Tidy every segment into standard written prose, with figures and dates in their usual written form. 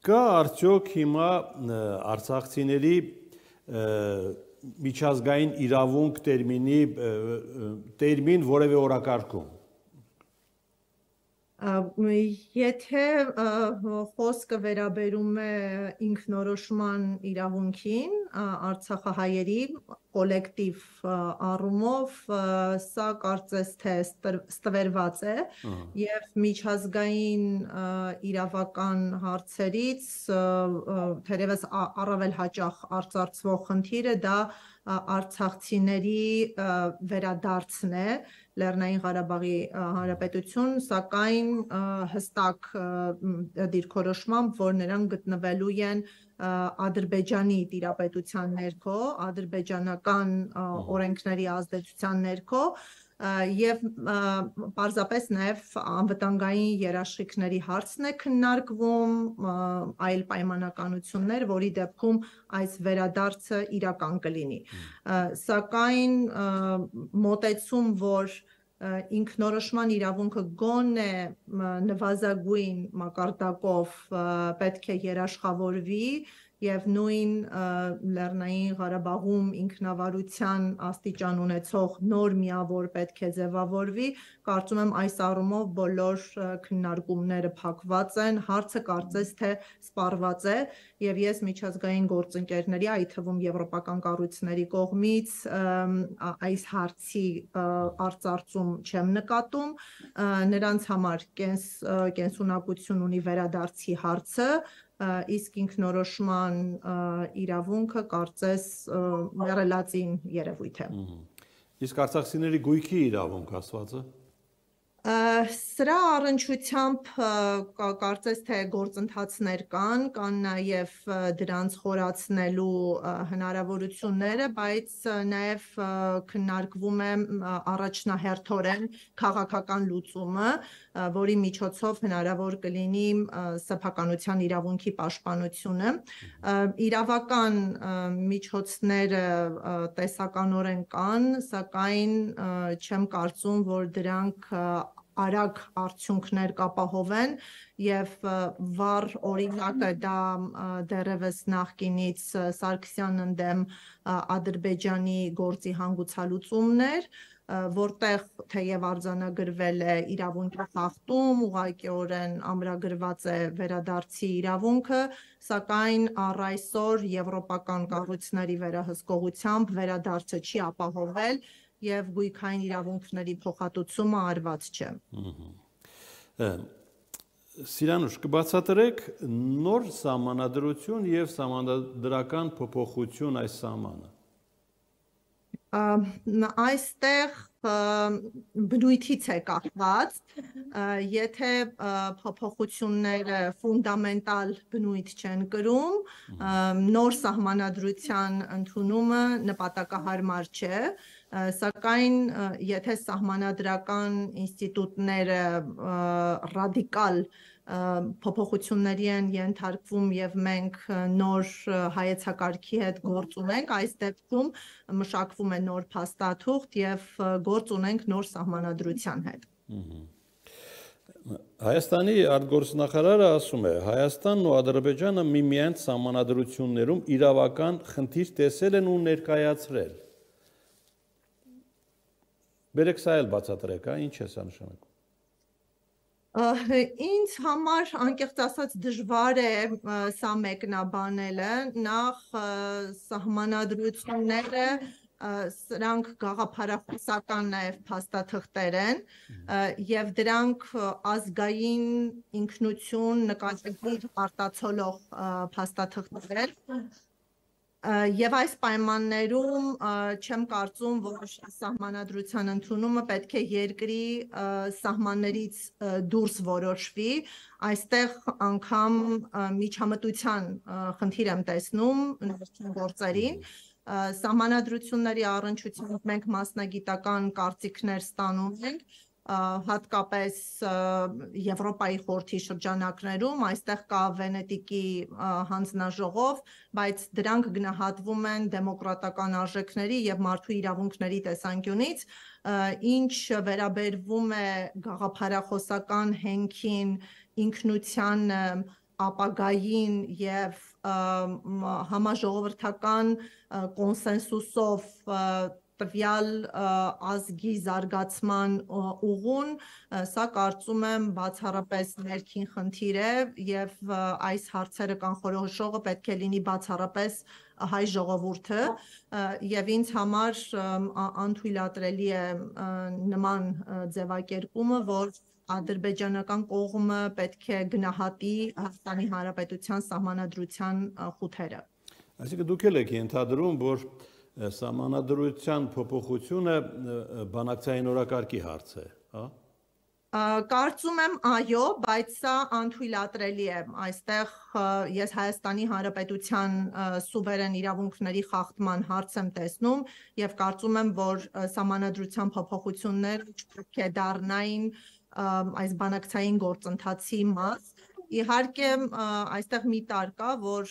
Կա արդյոք հիմա արցախցիների միջազգային իրավունք տերմին որևէ օրակարգում։ Եթե խոսքը վերաբերում է ինքնորոշման իրավունքին, արցախահայերի կոլեկտիվ առումով, սա կարծես թե ստվերված է և միջազգային իրավական հարցերից թերևս առավել հաճախ արծարծվող խնդիրը դա արցախցիների վերադարձն է Լեռնային Ղարաբաղի Հանրապետություն, սակայն հստակ դիրքորոշմամբ, որ նրանք գտնվելու են Ադրբեջանի տիրապետության ներքո, ադրբեջանական օրենքների ազդեցության ներքո և պարզապես նաև անվտանգային երաշխիքների հարցն է քննարկվում, այլ պայմանականություններ, որի դեպքում այս վերադարձը իրական կլինի։ Սակայն մոտեցում, որ ինքնորոշման իրավունքը գոնե նվազագույն մակարդակով պետք է երաշխավորվի և նույն Լեռնային Ղարաբաղում ինքնավարության աստիճան ունեցող նոր միավոր պետք է ձևավորվի, կարծում եմ այս առումով բոլոր քննարկումները փակված են, հարցը կարծես թե սպառված է և ես միջազգային գործընկերների, այդ թվում եվրոպական կառույցների կողմից այս հարցի արծարծում չեմ նկատում, նրանց համար կենսունակություն ունի վերադարձի հարցը, իսկ ինքնորոշման իրավունքը կարծես մեռելածին երևույթ է։ Իսկ արցախցիների գույքի իրավունք ասվածը։ Սրա առնչությամբ կարծես թե գործընթացներ կան նաև դրանց խորացնելու հնարավորությունները, բայց նաև քննարկվում է առաջնահերթորեն քաղաքական լուծումը, որի միջոցով հնարավոր կլինի սեփականության իրավունքի պաշտպանությունը։ Իրավական միջոցները տեսականորեն կան, սակայն չեմ կարծում, որ դրանք արագ արդյունքներ կապահովեն և վառ օրինակը դա դեռևս նախկինից Սարգսյան ընդդեմ Ադրբեջանի գործի հանգուցալուծումն էր, որտեղ թեև արձանագրվել է իրավունքի խախտում, ուղղակիորեն ամրագրված է վերադարձի իրավունքը, սակայն առ այսօր եվրոպական կառույցների վերահսկողությամբ վերադարձը չի ապահովել և գույքային իրավունքների փոխհատուցումը արված չէ։ Սիրանուշ, կբացատրեք նոր սահմանադրություն և սահմանադրական փոփոխություն այս սահմանը։ Այստեղ բնույթից է կախված, եթե փոփոխությունները ֆունդամենտալ բնույթ չեն կրում, նոր սահմանադրության ընդունումը նպատակահարմար չէ, սակայն եթե սահմանադրական ինստիտուտները ռադիկալ փոփոխությունների են ենթարկվում և մենք նոր հայեցակարգի հետ գործ ունենք, այս դեպքում մշակվում է նոր փաստաթուղթ և գործ ունենք նոր սահմանադրության հետ։ Հայաստանի արտգործնախարարը ասում է, Հայաստանն ու Ադրբեջանը միմյանց սահմանադրություններում իրավական խնդիր տեսել են ու ներկայացրել։ Բերեք սա էլ բացատրեք, ինչ է սա նշանակում։ Ինձ համար անկեղծ ասած դժվար է սա մեկնաբանելը, նախ սահմանադրությունները սրանք գաղափարախոսական նաև փաստաթղթեր են և դրանք ազգային ինքնություն նկատի արտացոլող փաստաթղթեր և այս պայմաններում չեմ կարծում, որ սահմանադրության ընդունումը պետք է երկրի սահմաններից դուրս որոշվի, այստեղ անգամ միջամտության խնդիր եմ տեսնում ներքին գործերին, սահմանադրությունների առնչությամբ մենք մասնագիտական կարծիքներ ստանում ենք, հատկապես Եվրոպայի խորհրդի շրջանակներում, այստեղ կա Վենետիկի հանձնաժողով, բայց դրանք գնահատվում են դեմոկրատական արժեքների և մարդու իրավունքների տեսանկյունից, ինչ վերաբերվում է գաղափարախոսական հենքին, ինքնությանը, ապագային եւ համաժողովրդական կոնսենսուսով տվյալ ազգի զարգացման ուղուն, սա կարծում եմ բացառապես ներքին խնդիր է եւ այս հարցերը կանխորոշողը պետք է լինի բացառապես հայ ժողովուրդը եւ ինձ համար անթույլատրելի է նման ձևակերպումը, որ ադրբեջանական կողմը պետք է գնահատի Հայաստանի Հանրապետության սահմանադրության խութերը։ Այսինքն դուք եք ենթադրում, որ սահմանադրության փոփոխությունը բանակցային օրակարգի հարց է, հա? Կարծում եմ այո, բայց սա անթույլատրելի է։ Այստեղ ես Հայաստանի Հանրապետության սուվերեն իրավունքների խախտման հարց եմ տեսնում եւ կարծում եմ, որ սահմանադրության փոփոխությունները պետք է դառնային այս բանակցային գործընթացի մաս։ Իհարկե, այստեղ մի տար կա, որ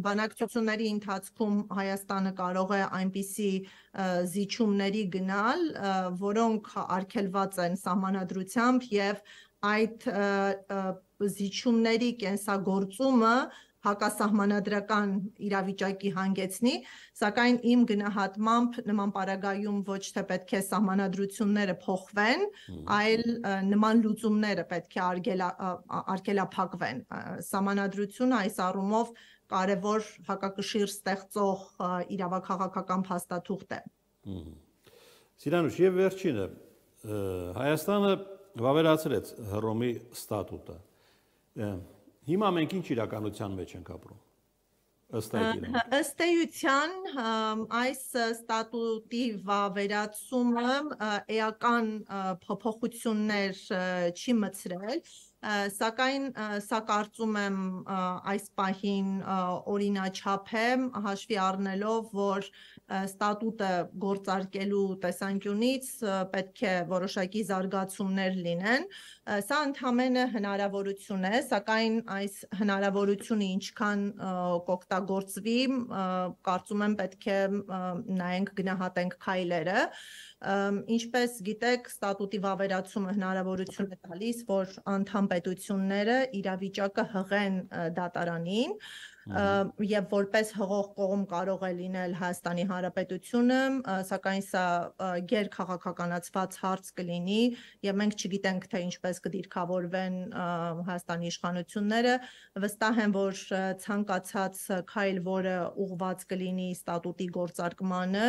բանակցությունների ընթացքում Հայաստանը կարող է այնպիսի զիջումների գնալ, որոնք արգելված են սահմանադրությամբ եւ այդ զիջումների կենսագործումը հակասահմանադրական իրավիճակի հանգեցնի, սակայն իմ գնահատմամբ նման պարագայում ոչ թե պետք է սահմանադրությունները փոխվեն, այլ նման լուծումները պետք է արգելափակվեն։ Սահմանադրությունը այս առումով կարևոր հակակշիռ ստեղծող իրավաքաղաքական փաստաթուղթ է։ Սիրանուշ, եւ վերջինը Հայաստանը վավերացրեց Հռոմի ստատուտը։ Հիմա մենք ինչ իրականության մեջ ենք ապրում։ Ըստ էության այս ստատուտի վավերացումը էական փոփոխություններ չի մտցրել, սակայն սա կարծում եմ այս պահին օրինաչափ է, հաշվի առնելով, որ ստատուտը գործարկելու տեսանկյունից պետք է որոշակի զարգացումներ լինեն։ Սա ընդհանրապես հնարավորություն է, սակայն այս հնարավորությունը ինչքան կօգտագործվի, կարծում եմ պետք է նայենք, գնահատենք քայլերը։ Ինչպես գիտեք, ստատուտի վավերացումը հնարավորություն է տալիս, որ անդամ պետությունները իրավիճակը հղեն դատարանին եւ որպես հղող կողմ կարող է լինել Հայաստանի Հանրապետությունը, սակայն սա գերքաղաքականացված հարց կլինի եւ մենք չգիտենք թե ինչպես կդիրքավորվեն Հայաստանի իշխանությունները, վստահ եմ, որ ցանկացած քայլ, որը ուղղված կլինի ստատուտի գործարկմանը,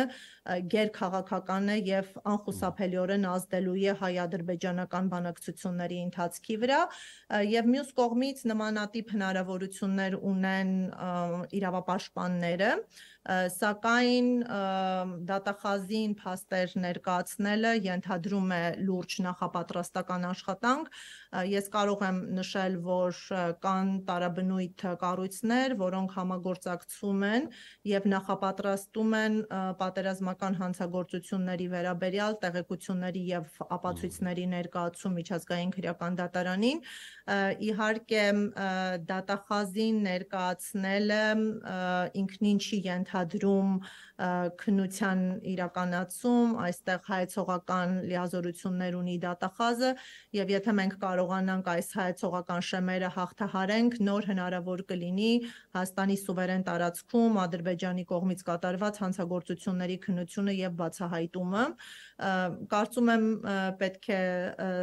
գերքաղաքական է եւ անխուսափելիորեն ազդելու է հայ-ադրբեջանական բանակցությունների ընթացքի վրա եւ մյուս կողմից նմանատիպ հնարավորություններ ունեն իրավապաշտպանները, սակայն դատախազին փաստեր ներկայացնելը ենթադրում է լուրջ նախապատրաստական աշխատանք։ Ես կարող եմ նշել, որ կան տարաբնույթ կառույցներ, որոնք համագործակցում են եւ նախապատրաստում են պատերազմական հանցագործությունների վերաբերյալ տեղեկությունների եւ ապացույցների ներկայացում միջազգային քրեական դատարանին։ Իհարկե դատախազին ներկայացնելը ինքնին չի ենթադրում քննության իրականացում, այստեղ հայեցողական լիազորություններ ունի դատախազը եւ եթե մենք կարողանանք այս հայեցողական շեմերը հաղթահարենք, նոր հնարավոր կլինի Հայաստանի սուվերեն տարածքում Ադրբեջանի կողմից կատարված հանցագործությունների քննությունը եւ բացահայտումը։ Կարծում եմ պետք է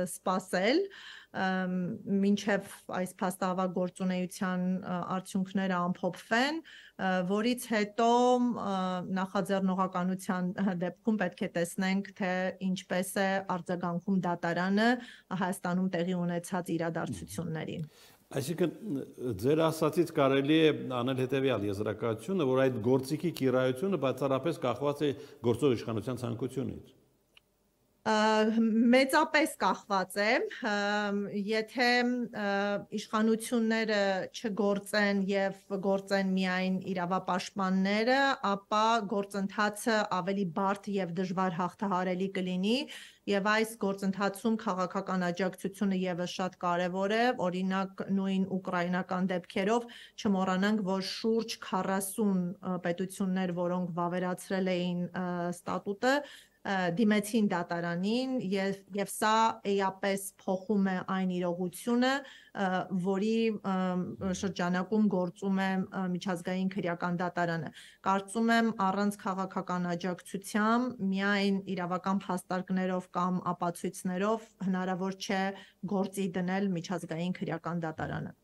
սպասել մինչև այս փաստահավաք գործունեության արդյունքները ամփոփվեն, որից հետո նախաձեռնողականության դեպքում պետք է տեսնենք, թե ինչպես է արձագանքում դատարանը Հայաստանում տեղի ունեցած իրադարձություններին։ Այսինքն ձեր ասածից կարելի է անել հետևյալ եզրակացությունը, որ այդ գործիքի կիրայությունը բացառապես կախված է գործող իշխանության ցանկությունից։ Մեծապես կախված է, եթե իշխանությունները չգործեն եւ գործեն միայն իրավապաշտպանները, ապա գործընթացը ավելի բարդ եւ դժվար հաղթահարելի կլինի եւ այս գործընթացում քաղաքական աջակցությունը եւս շատ կարեւոր է, օրինակ նույն ուկրաինական դեպքերով չմոռանանք, որ շուրջ 40 պետություններ, որոնք վավերացրել էին ստատուտը, դիմեցին դատարանին եւ սա էապես փոխում է այն իրողությունը, որի շրջանակում գործում է միջազգային քրեական դատարանը։ Կարծում եմ առանց քաղաքական աջակցությամբ միայն իրավական փաստարկներով կամ ապացույցներով հնարավոր չէ գործի դնել միջազգային քրեական դատարանը։